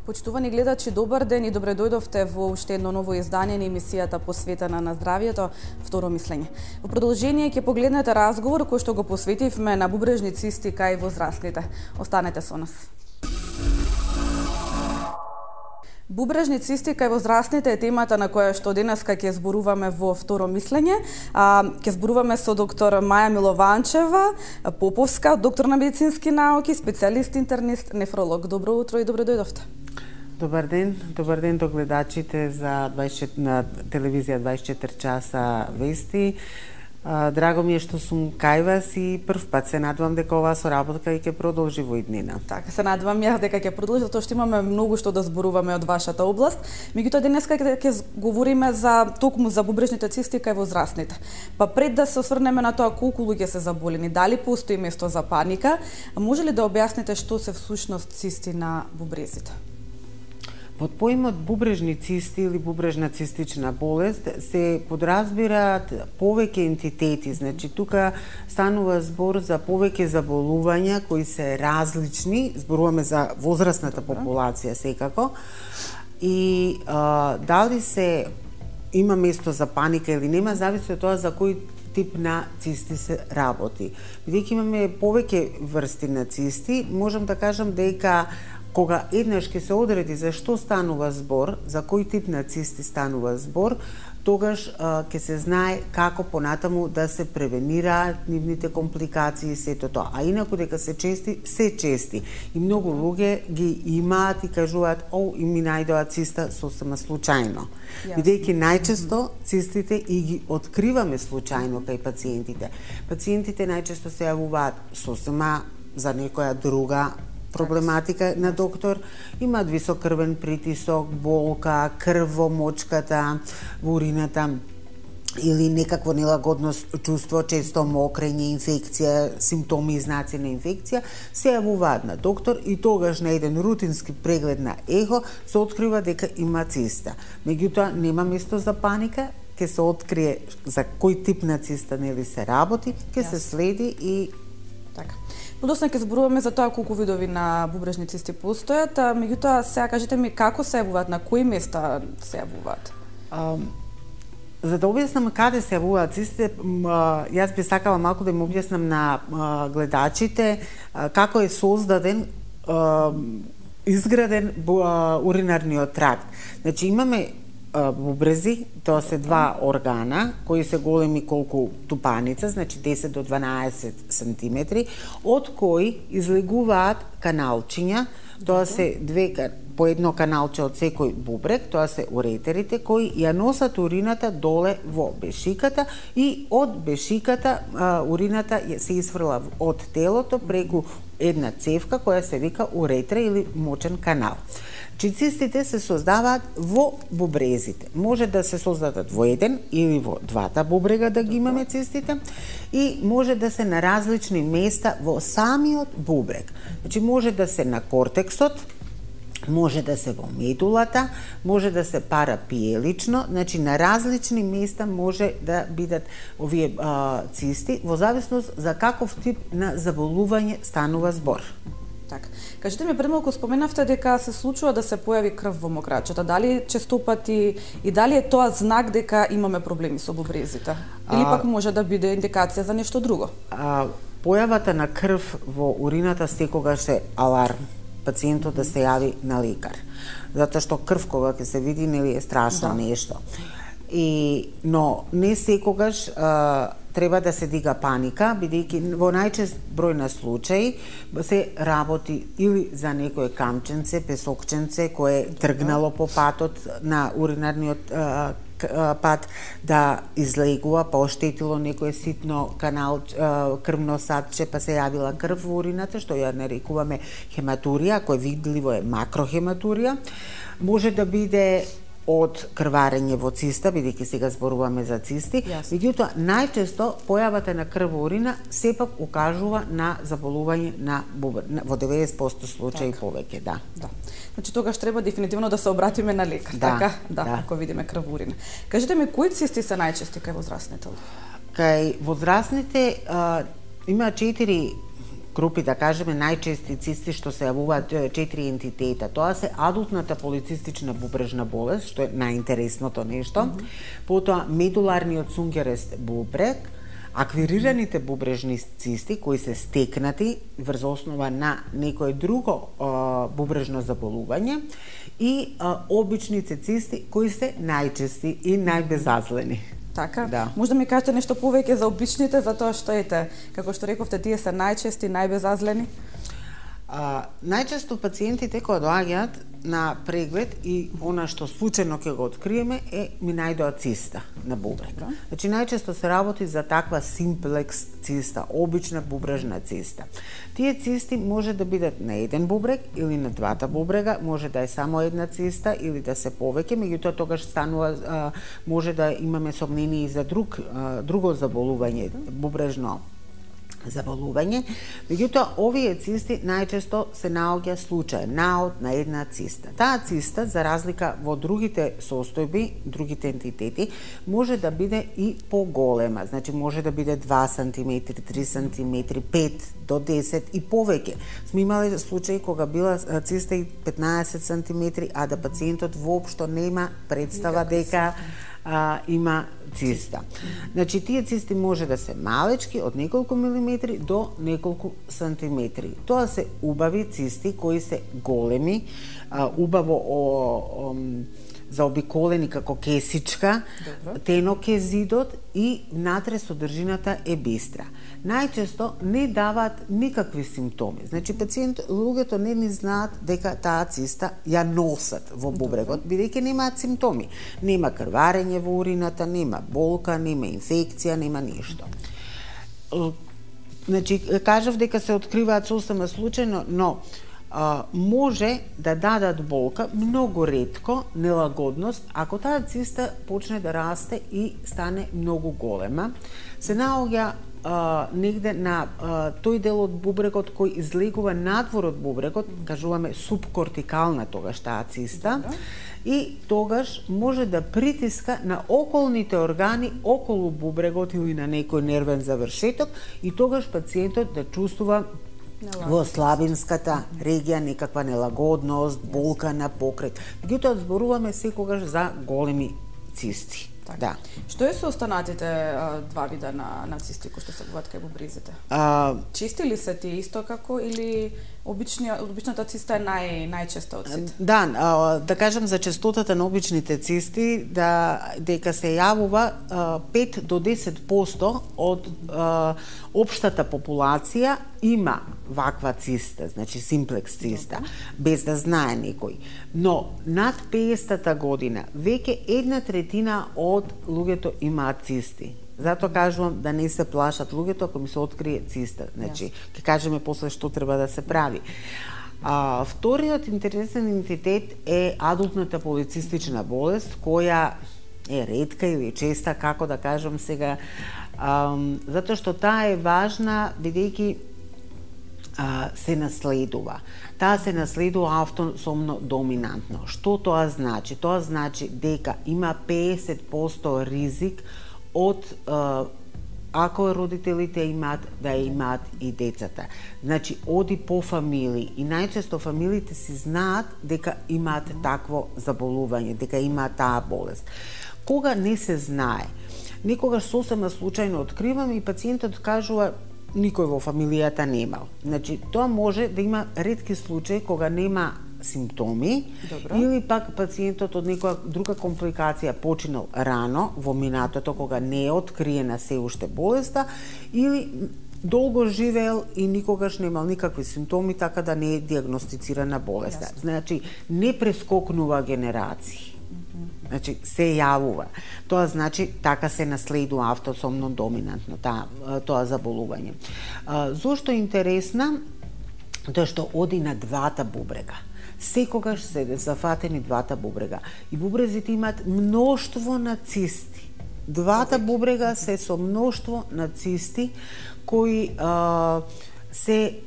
Почитувани гледачи, добар ден и добре дојдовте во уште едно ново издание на емисијата посветена на здравието, Второ мислење. Во продолжение ќе погледнете разговор кој што го посветивме на бубрежни цисти кај возрастните. Останете со нас. Бубрежни цисти кај возрастните е темата на која што денеска ќе зборуваме во Второ мислење. Ќе зборуваме со доктор Маја Милованчева, Поповска, доктор на медицински науки, специјалист интернист, нефролог. Добро утро и добре дојдовте. Добар ден до гледачите на телевизија 24 часа вести. Драго ми е што сум кај вас и прв пат се надевам дека оваа соработка и ќе продолжи во иднина. Така, се надевам ја дека ќе продолжи, затоа што имаме многу што да зборуваме од вашата област. Меѓутоа денеска ќе говориме токму за бубрежните цисти кај возрастните. Па пред да се осврнеме на тоа колку луѓе се заболени, дали постои место за паника, може ли да објасните што се всушност цисти на бубрезите? Под поимот бубрежни цисти или бубрежна цистична болест се подразбираат повеќе ентитети, значи тука станува збор за повеќе заболувања кои се различни, зборуваме за возрастната популација секако, и дали се има место за паника или нема, зависи од тоа за кој тип на цисти се работи. Бидејќи имаме повеќе врсти на цисти, можам да кажам дека кога еднаш ќе се одреди за што станува збор, за кој тип на цисти станува збор, тогаш ќе се знае како понатаму да се превенираат нивните компликации и сето тоа. А инаку дека се чести. И многу луѓе ги имаат и кажуваат, и ми најдоа циста сосема случајно. Бидејќи најчесто цистите и ги откриваме случајно кај пациентите. Пациентите најчесто се јавуваат сосема за некоја друга проблематика на доктор, имаат висок крвен притисок, болка, крв во мочката, во урината или некакво нелагодно чувство, често мокрење, инфекција, симптоми и знаци на инфекција, се јавуваат на доктор и тогаш на еден рутински преглед на ехо се открива дека има циста. Меѓутоа, нема место за паника, ќе се открие за кој тип на циста нели се работи, ќе се следи и така. Подосна ќе зборуваме за тоа колку видови на бубрежни цисти постојат, меѓутоа сега кажете ми како се јавуваат, на кои места се јавуваат? За да објаснам каде се јавуваат цистите, јас би сакала малку да им објаснам на гледачите како е создаден, изграден уринарниот тракт. Значи имаме бубрези, тоа се два органа кои се големи колку тупаница, значи 10 до 12 сантиметри, од кои излегуваат каналчиња, тоа се по едно каналче од секој бубрек, тоа се уретерите кои ја носат урината доле во бешиката и од бешиката урината се изфрла од телото преку една цевка која се вика уретра или мочен канал. Цистите се создаваат во бубрезите. Може да се создадат во еден или во двата бубрега да ги имаме цистите и може да се на различни места во самиот бубрег. Значи може да се на кортексот, може да се во медулата, може да се парапиелично, значи на различни места може да бидат овие цисти во зависност за каков тип на заболување станува збор. Така. Кажете ми, премалку споменавте дека се случува да се појави крв во мокрачата. Дали често пати и дали е тоа знак дека имаме проблеми со бубрезите? Или пак може да биде индикација за нешто друго? Појавата на крв во урината секогаш е аларм пациентот да се јави на лекар. Затоа што крв кога ќе се види нели е страшно нешто. Но не секогаш треба да се дига паника, бидејќи во најчест број на случаи се работи или за некое камченце, песокченце кое е тргнало по патот на уринарниот пат да излегува, па оштетило некое ситно канал, крвно садче, па се јавила крв во урината, што ја нарекуваме хематурија, кој видливо е макрохематурија. Може да биде од крварење во циста, бидејќи сега зборуваме за цисти, меѓутоа најчесто појавата на крв во урина сепак укажува на заболување на бубрез, во 90% случаи повеќе, да. Значи тогаш треба дефинитивно да се обратиме на лекар, така? Да, ако видиме крв во урина. Кажете ми, кои цисти се најчести кај возрастните? Кај возрастните има 4 групи, да кажеме, најчести цисти што се јавуваат 4 ентитета. Тоа се адултната полицистична бубрежна болест, што е најинтересното нешто, потоа медуларниот цунгерест бубрег, аквирираните бубрежни цисти кои се стекнати врз основа на некое друго бубрежно заболување и обичните цисти кои се најчести и најбезазлени. Така? Да. Може да ми кажете нешто повеќе за обичните, за тоа што како што рековте, тие се најчести, најбезазлени? Најчесто пациентите кога доаѓаат на преглед и она што случајно ќе го откриеме ми најдоа циста на бубрег. Значи најчесто се работи за таква симплекс циста, обична бубрежна циста. Тие цисти може да бидат на еден бубрег или на двата бубрега, може да е само една циста или да се повеќе, меѓутоа тогаш станува може да имаме сомнение и за друго заболување, бубрежно заболување, меѓутоа овие цисти најчесто се наоѓа случаен наод на една циста. Таа циста, за разлика во другите состојби, другите ентитети, може да биде и поголема, значи може да биде 2 см, 3 см, 5 до 10 и повеќе. Сме имале случаи кога била циста и 15 см, а да пациентот воопшто нема представа дека има циста. Значи, тие цисти може да се малечки, од неколку милиметри до неколку сантиметри. Тоа се убави цисти кои се големи, убаво заобиколени како кесичка, тенок е зидот и внатре содржината е бистра. Најчесто не даваат никакви симптоми. Значи, луѓето не ни знаат дека таа циста ја носат во бубрегот, бидејќи немаат симптоми. Нема крварење во урината, нема болка, нема инфекција, нема ништо. Значи, кажав дека се откриваат сосема случајно, но може да дадат болка многу ретко, нелагодност, ако таа циста почне да расте и стане многу голема. Се наоѓа негде на тој дел од бубрегот кој излегува надвор од бубрегот, кажуваме субкортикална тогаш таа циста, и тогаш може да притиска на околните органи околу бубрегот или на некој нервен завршеток и тогаш пациентот да чувствува во слабинската регија некаква нелагодност, болка на покрет. Меѓутоа зборуваме секогаш за големи цисти. Да. Што е со останатите два вида на цисти кои што се буваат кај бубрезите? Чисти ли се тие исто како или обичната циста е најчеста од сите? Да, да кажам за честотата на обичните цисти, дека се јавува 5 до 10% од општата популација има ваква циста, значи симплекс циста, без да знае некој. Но над 50-та година веќе 1/3 од луѓето имаат цисти. Затоа кажувам да не се плашат луѓето ако ми се открие циста. Значи, ќе кажеме после што треба да се прави. Вториот интересен ентитет е адултната полицистична болест, која е ретка или честа, како да кажам сега, затоа што таа е важна, бидејќи се наследува. Таа се наследува автосомно доминантно. Што тоа значи? Тоа значи дека има 50% ризик од ако родителите имаат, да имаат и децата. Значи, оди по фамилии и најчесто фамилиите си знаат дека имаат такво заболување, дека имаат таа болест. Кога не се знае, некогаш сосема случајно откриваме и пациентот кажува никој во фамилијата немал. Значи, тоа може да има ретки случаи кога нема симптоми. Добро. Или пак пациентот од некоја друга компликација починал рано во минатото кога не е откриена се уште болеста или долго живеел и никогаш немал никакви симптоми, така да не е диагностицирана болеста. Yes. Значи, не прескокнува генерации. Значи, се јавува. Тоа значи, така се наследува автосомно доминантно, тоа заболување. Зошто е интересна? Тоа што оди на двата бубрега. Секогаш се зафатени двата бубрега. И бубрезите имаат мноштво на цисти. Двата бубрега се со мноштво на цисти кои се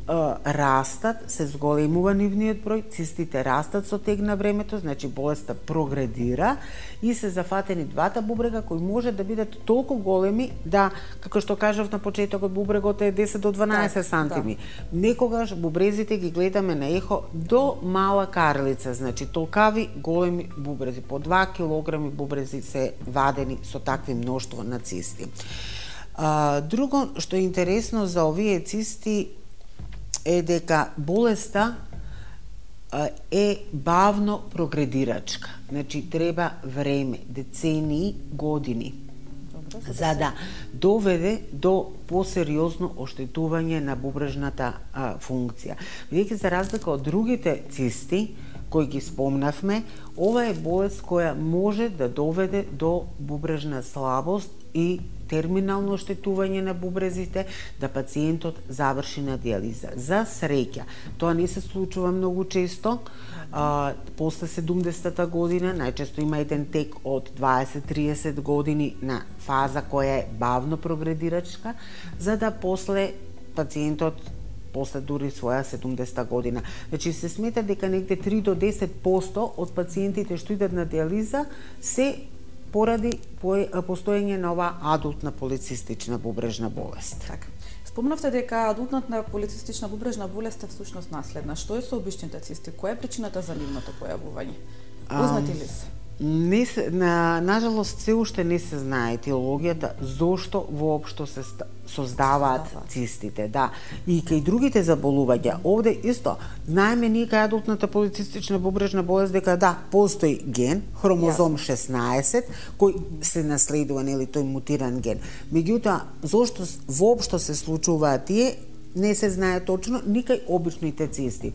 растат, се зголемува нивниот број, цистите растат со тег на времето, значи болеста прогредира и се зафатени двата бубрега кои може да бидат толку големи да, како што кажав на почетокот, бубрегот е 10 до 12 сантими. Некогаш бубрезите ги гледаме на ехо до мала карлица, значи толкави големи бубрези, по 2 килограми бубрези се вадени со такви мноштво на цисти. Друго што е интересно за овие цисти е дека болеста е бавно прогредирачка. Значи треба време, децении, години, за да доведе до посериозно оштетување на бубрежната функција. Бидејќи за разлика од другите цисти кои ги спомнавме, ова е болест која може да доведе до бубрежна слабост и терминално оштетување на бубрезите, да пациентот заврши на диализа. За среќа, тоа не се случува многу често. После 70-та година, најчесто има еден тек од 20-30 години на фаза која е бавно прогредирачка, за да после пациентот после дури своја 70-та година. Значи се смета дека негде 3 до 10% од пациентите што идат на диализа се поради постоење на оваа адултна полицистична бубрежна болест. Така. Спомнавте дека адултната полицистична бубрежна болест е всушност наследна. Што е со обичните цисти? Која е причината за нивното појавување? Познати ли се? Нажалост, се уште не се знае етиологијата зошто воопшто се создаваат цистите. Да. И кај другите заболувања, овде исто, знаеме ние кај адултната полицистична бубрежна болест дека да, постои ген, хромозом 16, кој се наследува, нели, тој мутиран ген. Меѓутоа, зошто воопшто се случуваат тие, не се знае точно, ни кај обичните цисти.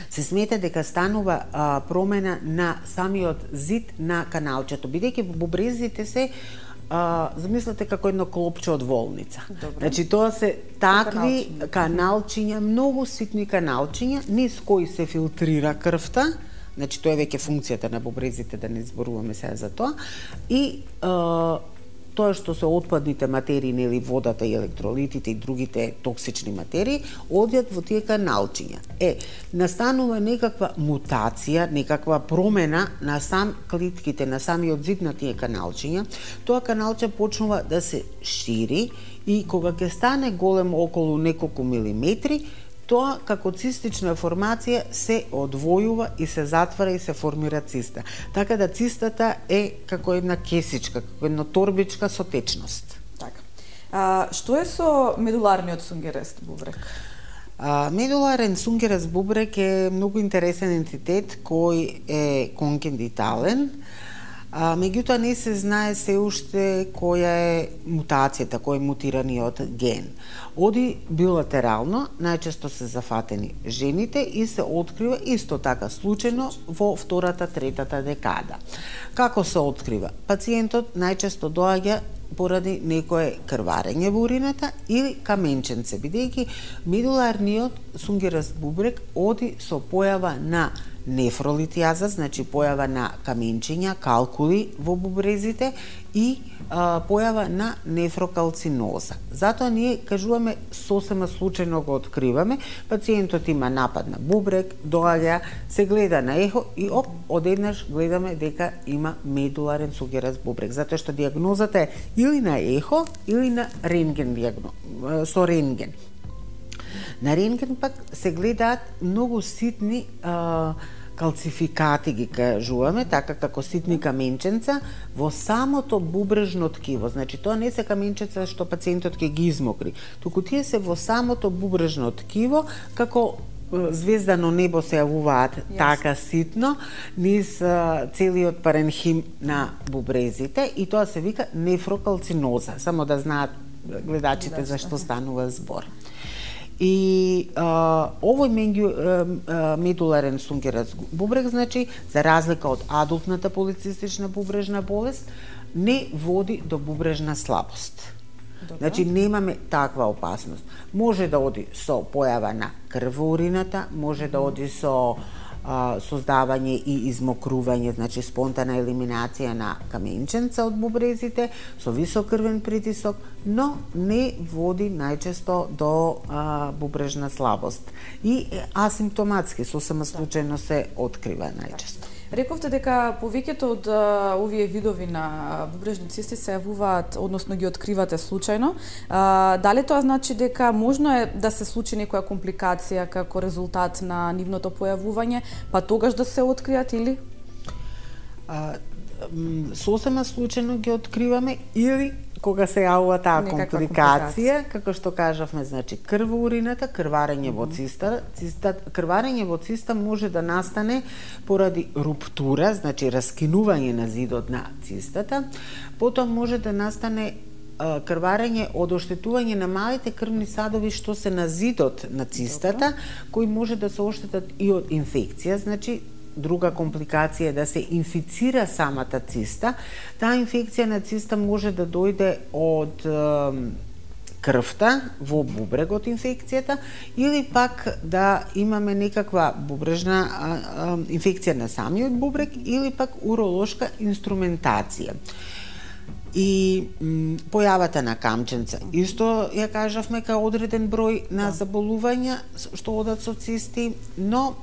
Се смета дека станува промена на самиот зид на каналчето, бидејќи бубрезите се замислете како едно клопче од волница. Добре. Значи тоа се такви каналчиња, многу ситни каналчиња, низ кои се филтрира крвта, значи тоа е веќе функцијата на бубрезите, да не зборуваме сега за тоа, и тоа што се отпадните материи, нели, водата и електролитите и другите токсични материи, одјат во тие каналчиња. Настанува некаква мутација, некаква промена на сам клитките, на самиот зид на тие каналчиња. Тоа каналче почнува да се шири и кога ќе стане голем околу неколку милиметри, тоа како цистична формација се одвојува и се затвара и се формира циста. Така да цистата е како една кесичка, како една торбичка со течност. Така. Што е со медуларниот сунгерест бубрек? Медуларен сунгерест бубрек е многу интересен ентитет кој е конгенитален. Меѓутоа не се знае се уште која е мутацијата, кој е мутираниот ген. Оди билатерално, најчесто се зафатени жените и се открива исто така случајно во втората, третата декада. Како се открива? Пациентот најчесто доаѓа поради некое крварење во урината или каменченце, бидејќи медуларниот сунгерест бубрек оди со појава на нефролитијаза, значи појава на каменчиња, калкули во бубрезите и појава на нефрокалциноза. Затоа ние кажуваме сосема случајно го откриваме, пациентот има напад на бубрек, доаѓа, се гледа на ехо и одеднаш гледаме дека има медуларен сунгерест бубрек, затоа што диагнозата е или на ехо или на рентген со рентген. На рентген пак се гледаат многу ситни калцификати, ги кажуваме, така како ситни каменченца во самото бубрежно ткиво. Значи тоа не се каменченца што пациентот ќе ги измокри, туку тие се во самото бубрежно ткиво, како звездано небо се јавуваат така ситно низ целиот паренхим на бубрезите и тоа се вика нефрокалциноза, само да знаат гледачите за што станува збор. И овој медуларен сунгерест бубрек, значи, за разлика од адултната полицистична бубрежна болест, не води до бубрежна слабост. Добре. Значи, немаме таква опасност. Може да оди со појава на крв во урината, може да оди со создавање и измокрување, значи спонтана елиминација на каменченца од бубрезите со висок крвен притисок, но не води најчесто до бубрежна слабост и асимптоматски, сосема случајно се открива најчесто. Рековте дека повеќето од овие видови на бубрежни цисти се јавуваат, односно ги откривате случајно. Дали тоа значи дека можно е да се случи некоја компликација како резултат на нивното појавување, па тогаш да се откријат или? Сосема случајно ги откриваме или кога се јавува таа компликација, како што кажавме, значи крв во урината, крварење во циста. Крварење во циста може да настане поради руптура, значи раскинување на зидот на цистата, потоа може да настане крварење од оштетување на малите крвни садови што се на зидот на цистата, кои може да се оштетат и од инфекција, значи друга компликација е да се инфицира самата циста. Таа инфекција на циста може да дојде од крвта во бубрегот инфекцијата или пак да имаме некаква бубрежна инфекција на самиот бубрег или пак уролошка инструментација. И појавата на камченца. Исто ја кажавме кај одреден број на заболувања што одат со цисти, но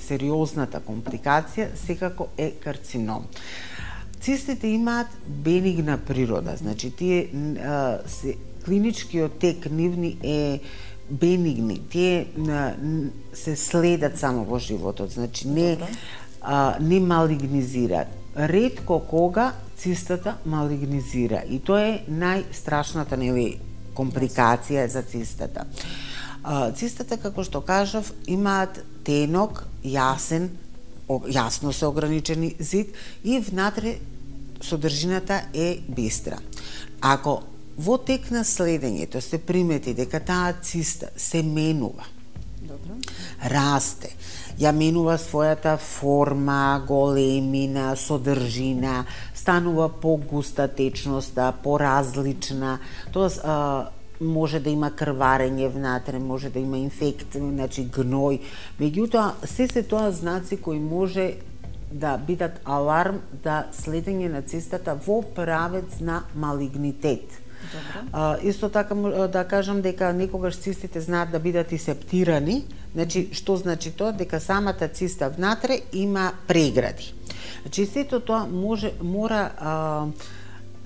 сериозната компликација секако е карцином. Цистите имаат бенигна природа, значи тие клиничкиот тек нивни е бенигни, тие се следат само во животот, значи не малигнизираат. Ретко кога цистата малигнизира и тоа е најстрашната компликација за цистата. Цистата, како што кажав, имаат тенок, јасно се ограничени зид и внатре содржината е бистра. Ако во тек на следењето се примети дека таа циста се менува, расте, ја менува својата форма, големина, содржина, станува погуста течноста, поразлична, тоа може да има крварење внатре, може да има инфекција, значи гној. Меѓутоа, се тоа знаци кои може да бидат аларм да следење на цистата во правец на малигнитет. Исто така да кажам дека некогаш цистите знаат да бидат и септирани. Значи, што значи тоа? Дека самата циста внатре има прегради. Значи, сето тоа мора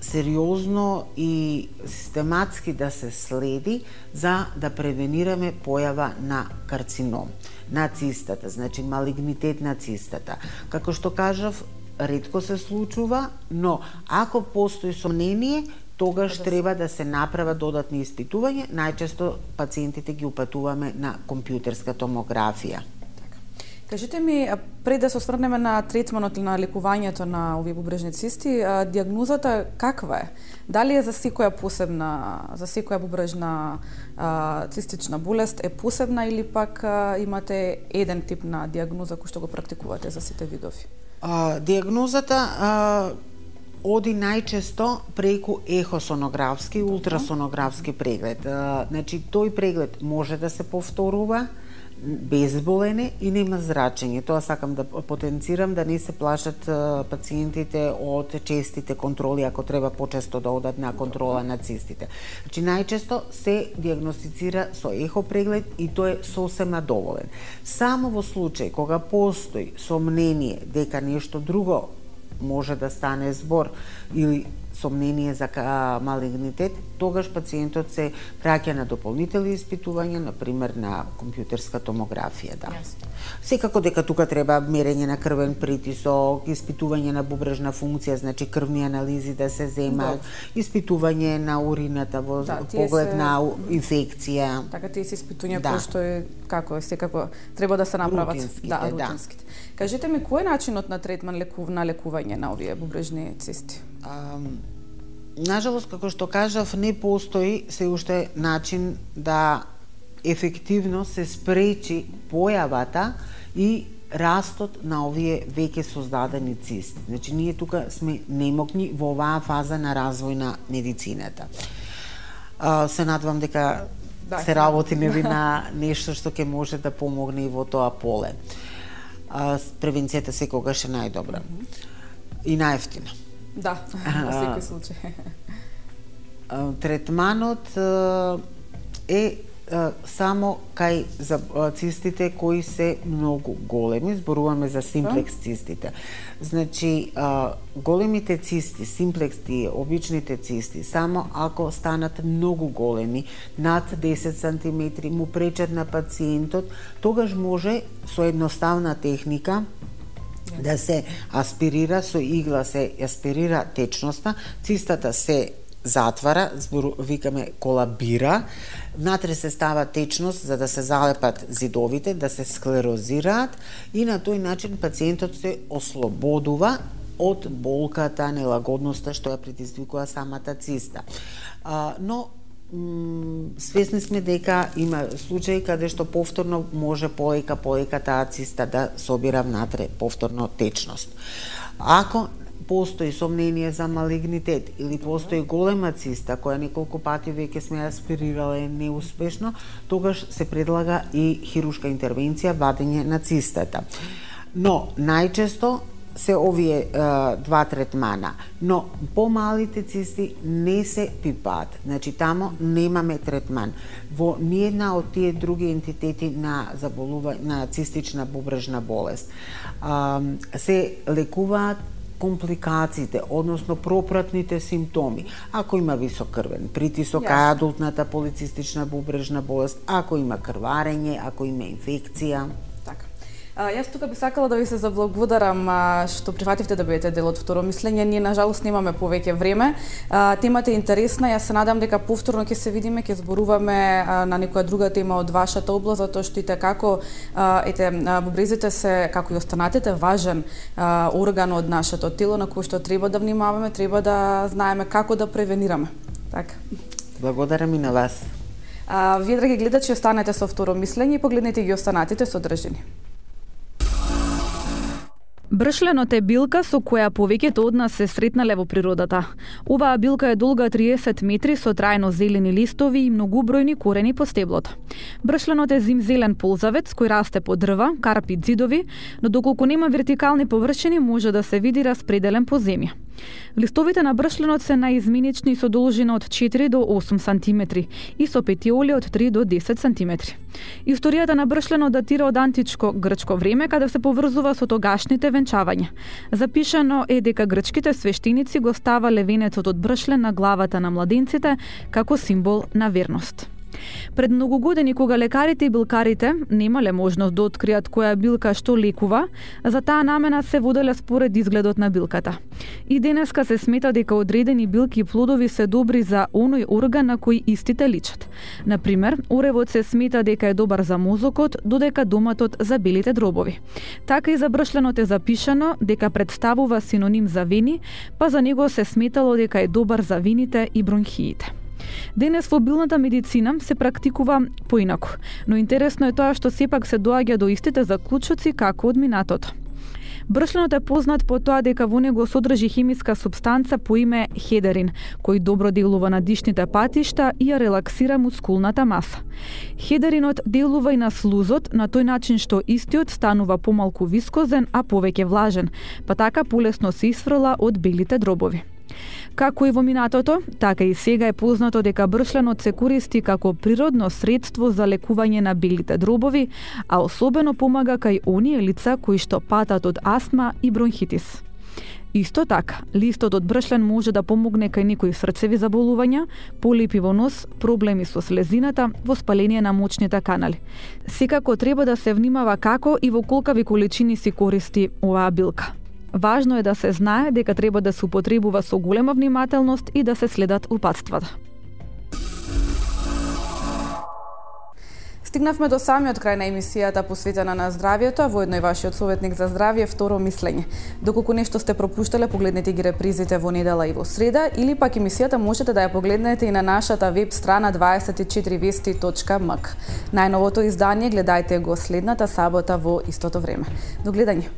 сериозно и систематски да се следи за да превенираме појава на карцином на цистата, значи малигнитет на цистата. Како што кажав, ретко се случува, но ако постои сомнение, тогаш треба да се направат додатни испитувања. Најчесто пациентите ги упатуваме на компјутерска томографија. Кажете ми, пред да се осврнеме на третманот или на лекувањето на овие бубрежни цисти, дијагнозата каква е? Дали е за секоја бубрежна цистична болест е посебна или пак имате еден тип на дијагноза кој што го практикувате за сите видови? Дијагнозата оди најчесто преку ехосонографски и ултрасонографски преглед. Значи, тој преглед може да се повторува, безболен и нема зрачење. Тоа сакам да потенцирам, да не се плашат пациентите од честите контроли, ако треба почесто да одат на контрола на цистите. Значи, најчесто се дијагностицира со ехо преглед и тој е сосема доволен. Само во случај кога постои сомнение дека нешто друго може да стане збор или сомнение за малигнитет, тогаш пациентот се праќа на дополнителни испитувања, например на компјутерска томографија, да. Секако дека тука треба мерење на крвен притисок, испитување на бубрежна функција, значи крвни анализи да се земат, испитување на урината во поглед на инфекција. Така тие се испитувања кои што е како секако треба да се направат, рутинските. Кажете ми, кој е начинот на третман на лекување на овие бубрежни цисти? Нажалост, како што кажав, не постои се уште начин да ефективно се спречи појавата и растот на овие веќе создадени цисти. Значи, ние тука сме немокни во оваа фаза на развој на медицината. Се надевам дека се работи на нешто што ќе може да помогне и во тоа поле. Превенцијата секогаш е најдобра и најевтина. Да, во секој случај. Третманот е само кај за цистите кои се многу големи, зборуваме за симплекс цистите. Значи, големите цисти, симплекс тие, обичните цисти, само ако станат многу големи, над 10 сантиметри, му пречат на пациентот, тогаш може со едноставна техника да се аспирира, со игла се аспирира течноста, цистата се затвара, викаме колабира, внатре се става течност за да се залепат зидовите, да се склерозираат и на тој начин пациентот се ослободува од болката, нелагодноста што ја предизвикува самата циста. Но свесни сме дека има случаи каде што повторно може полека таа циста да собира внатре повторно течност. Ако постои сомнение за малигнитет или постои голема циста која неколку пати веќе сме аспирирала е неуспешно, тогаш се предлага и хируршка интервенција, вадење на цистата. Но најчесто се овие два третмана, но помалите цисти не се пипаат. Значи тамо немаме третман. Во ниедна од тие други ентитети на заболување на цистична бубрежна болест се лекуваат компликациите, односно пропратните симптоми. Ако има висок крвен притисок, адултната полицистична бубрежна болест, ако има крварење, ако има инфекција. Јас тука би сакала да ви се заблагодарам што прифативте да бидете дел од второ мислење. Ние на жалост немаме повеќе време. Темата е интересна. Јас се надам дека повторно ќе се видиме, ќе зборуваме на некоја друга тема од вашата област, затоа што ите како бубрезите се, како и останатите, важен орган од нашето тело на кој што треба да внимаваме, треба да знаеме како да превенираме. Така. Благодарам и на вас. Вие, драги гледачи, останете со второ мислење и погледнете ги останатите содржини. Бршленот е билка со која повеќето од нас се сретнале во природата. Оваа билка е долга 30 метри со трајно зелени листови и многубројни корени по стеблото. Бршленот е зимзелен ползавец кој расте по дрва, карпи, ѕидови, но доколку нема вертикални површини може да се види распределен по земја. Листовите на бршленот се наизменични со должина од 4 до 8 сантиметри и со петиоли од 3 до 10 сантиметри. Историјата на бршленот датира од античко грчко време, каде се поврзува со тогашните венчавања. Запишано е дека грчките свештеници го ставале венецот од бршлен на главата на младенците како символ на верност. Пред многу години, кога лекарите и билкарите немале можност да откријат која билка што лекува, за таа намена се воделе според изгледот на билката. И денеска се смета дека одредени билки и плодови се добри за оној орган на кој истите личат. Например, оревот се смета дека е добар за мозокот, додека доматот за белите дробови. Така и за бршленот е запишано дека представува синоним за вени, па за него се сметало дека е добар за вените и бронхиите. Денес во билната медицина се практикува поинаку, но интересно е тоа што сепак се доаѓа до истите заклучоци како од минатото. Бршленот е познат по тоа дека во него содржи хемиска супстанца по име хедерин, кој добро делува на дишните патишта и ја релаксира мускулната маса. Хедеринот делува и на слузот на тој начин што истиот станува помалку вискозен, а повеќе влажен, па така полесно се исфрла од белите дробови. Како и во минатото, така и сега е познато дека бршленот се користи како природно средство за лекување на белите дробови, а особено помага кај оние лица кои што патат од астма и бронхитис. Исто така, листот од бршлен може да помогне кај некои срцеви заболувања, полипи во нос, проблеми со слезината, воспаление на мочните канали. Секако треба да се внимава како и во колкави количини се користи оваа билка. Важно е да се знае дека треба да се употребува со голема внимателност и да се следат упатствата. Стигнавме до самиот крај на емисијата посветена на здравието, а воедно и вашиот советник за здравје, второ мислење. Доколку нешто сте пропуштале, погледнете ги репризите во недела и во среда, или пак емисијата можете да ја погледнете и на нашата веб страна 24vesti.mk. Најновото издание гледајте го следната сабота во истото време. До гледање!